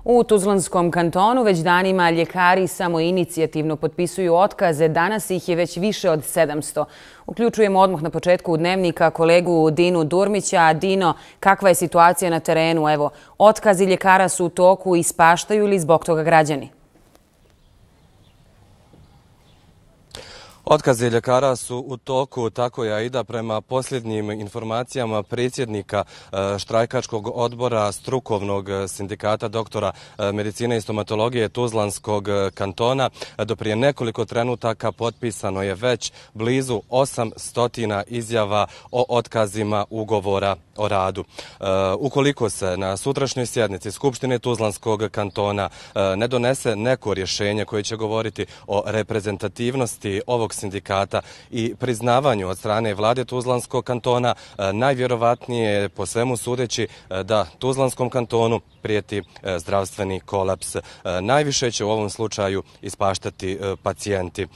U Tuzlanskom kantonu već danima ljekari samoinicijativno potpisuju otkaze. Danas ih je već više od 700. Uključujemo odmah na početku Dnevnika kolegu Dinu Durmića. Dino, kakva je situacija na terenu? Evo, otkazi ljekara su u toku, ispaštaju li zbog toga građani? Otkazi ljekara su u toku, tako je Aida. Prema posljednjim informacijama predsjednika štrajkačkog odbora strukovnog sindikata doktora medicine i stomatologije Tuzlanskog kantona, do prije nekoliko trenutaka potpisano je već blizu 800 izjava o otkazima ugovora o radu. Ukoliko se na sutrašnjoj sjednici Skupštine Tuzlanskog kantona ne donese neko rješenje koje će govoriti o reprezentativnosti ovog sindikata i priznavanju od strane vlade Tuzlanskog kantona, najvjerovatnije je po svemu sudeći da Tuzlanskom kantonu prijeti zdravstveni kolaps. Najviše će u ovom slučaju ispaštati pacijenti.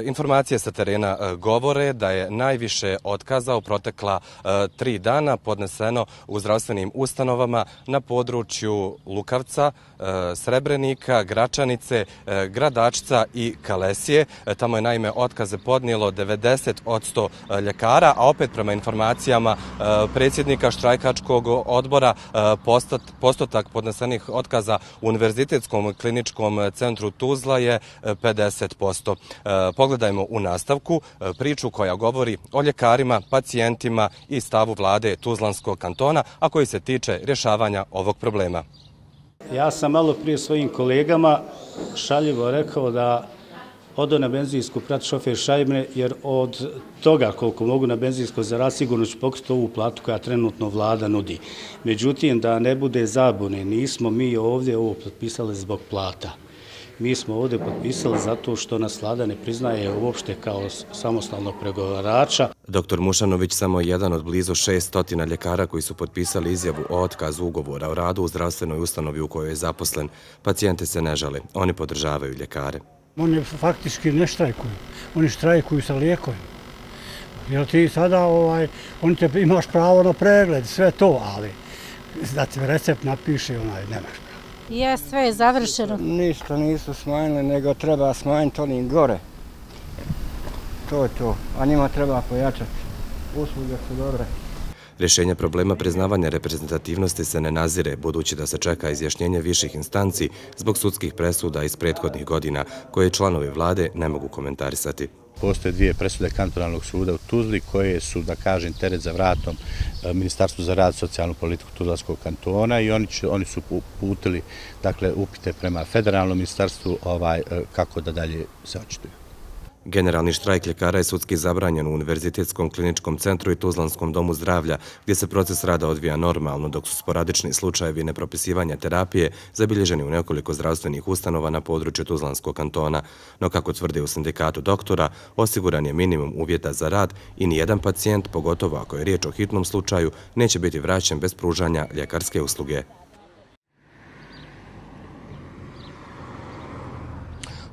Informacije sa terena govore da je najviše otkaza u protekla 3 dana podneseno u zdravstvenim ustanovama na području Lukavca, Srebrenika, Gračanice, Gradačca i Kalesije. Tamo je naime otkaze podnijelo 90% ljekara, a opet prema informacijama predsjednika štrajkačkog odbora postotak podnesenih otkaza u Univerzitetskom kliničkom centru Tuzla je 50%. Pogledajmo u nastavku priču koja govori o ljekarima, pacijentima i stavu vlade Tuzlanskog kantona, a koji se tiče rješavanja ovog problema. Ja sam malo prije svojim kolegama šaljivo rekao da odo na benzinsku prati šofer šajbne, jer od toga koliko mogu na benzinsko zaraditi sigurno ću pokriti ovu platu koja trenutno vlada nudi. Međutim, da ne bude zabune, nismo mi ovdje ovo potpisali zbog plata. Mi smo ovdje potpisali zato što nas vlada ne priznaje uopšte kao samostalnog pregovarača. Dr. Mušanović samo jedan od blizu 600 ljekara koji su potpisali izjavu o otkazu ugovora o radu u zdravstvenoj ustanovi u kojoj je zaposlen. Pacijente se ne žale, oni podržavaju ljekare. Oni faktički ne štrajkuju, oni štrajkuju sa lijekovima. Jer ti sada, imaš pravo na pregled, sve to, ali da ti recept napiše, nemaš pravo. Je, sve je završeno. Ništa nisu smanjili, nego treba smanjiti onim gore. To je to, a njima treba pojačati. Usluge su dobre. Rješenje problema priznavanja reprezentativnosti se ne nazire, budući da se čeka izjašnjenje viših instanci zbog sudskih presuda iz prethodnih godina, koje članovi vlade ne mogu komentarisati. Postoje 2 presude kantonalnog suda u Tuzli koje su, da kažem, teret za vratom Ministarstvu za rad i socijalnu politiku Tuzlanskog kantona i oni su uputili upite prema federalnom ministarstvu kako da dalje se očituju. Generalni štrajk ljekara je sudski zabranjen u Univerzitetskom kliničkom centru i Tuzlanskom domu zdravlja, gdje se proces rada odvija normalno, dok su sporadični slučajevi nepropisivanja terapije zabilježeni u nekoliko zdravstvenih ustanova na području Tuzlanskog kantona. No, kako tvrde u sindikatu doktora, osiguran je minimum uvjeta za rad i nijedan pacijent, pogotovo ako je riječ o hitnom slučaju, neće biti vraćen bez pružanja ljekarske usluge.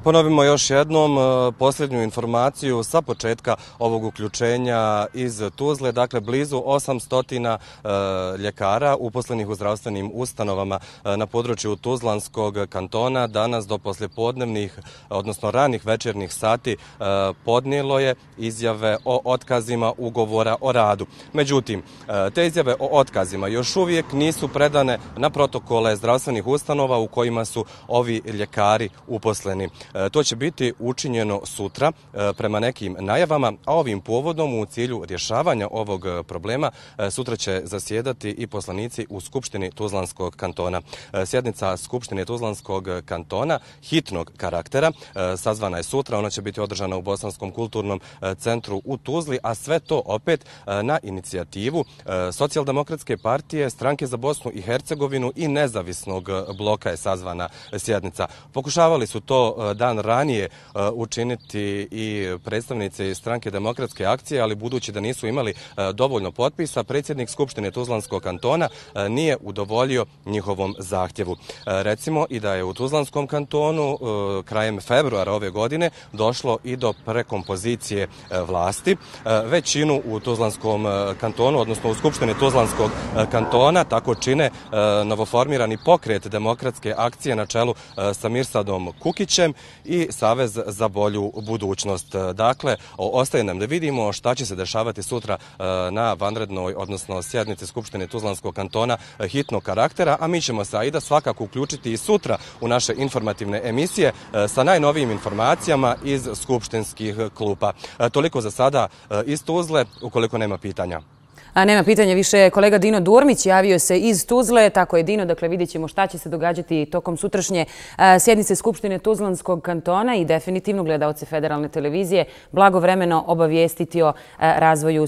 Ponovimo još jednom posljednju informaciju sa početka ovog uključenja iz Tuzle. Dakle, blizu 800 ljekara uposlenih u zdravstvenim ustanovama na području Tuzlanskog kantona danas do poslijepodnevnih, odnosno ranih večernjih sati podnijelo je izjave o otkazima ugovora o radu. Međutim, te izjave o otkazima još uvijek nisu predane na protokole zdravstvenih ustanova u kojima su ovi ljekari uposleni. To će biti učinjeno sutra prema nekim najavama, a ovim povodom u cilju rješavanja ovog problema sutra će zasjedati i poslanici u Skupštini Tuzlanskog kantona. Sjednica Skupštine Tuzlanskog kantona hitnog karaktera sazvana je sutra, ona će biti održana u Bosanskom kulturnom centru u Tuzli, a sve to opet na inicijativu Socijaldemokratske partije, Stranke za Bosnu i Hercegovinu i Nezavisnog bloka je sazvana sjednica. Pokušavali su to dan ranije učiniti i predstavnice iz stranke Demokratske akcije, ali budući da nisu imali dovoljno potpisa, predsjednik Skupštine Tuzlanskog kantona nije udovoljio njihovom zahtjevu. Recimo i da je u Tuzlanskom kantonu krajem februara ove godine došlo i do prekompozicije vlasti. Većinu u Tuzlanskom kantonu, odnosno u Skupštini Tuzlanskog kantona, tako čine novoformirani pokret Demokratske akcije na čelu sa Mirsadom Kukićem i Savez za bolju budućnost. Dakle, ostaje nam da vidimo šta će se dešavati sutra na vanrednoj, odnosno sjednici Skupštine Tuzlanskog kantona hitnog karaktera, a mi ćemo se Aida svakako uključiti i sutra u naše informativne emisije sa najnovijim informacijama iz skupštinskih klupa. Toliko za sada iz Tuzle, ukoliko nema pitanja. Nema pitanja više. Kolega Dino Durmić javio se iz Tuzle. Tako je, Dino. Dakle, vidjet ćemo šta će se događati tokom sutrašnje sjednice Skupštine Tuzlanskog kantona i definitivno gledaoce Federalne televizije blagovremeno obavijestiti o razvoju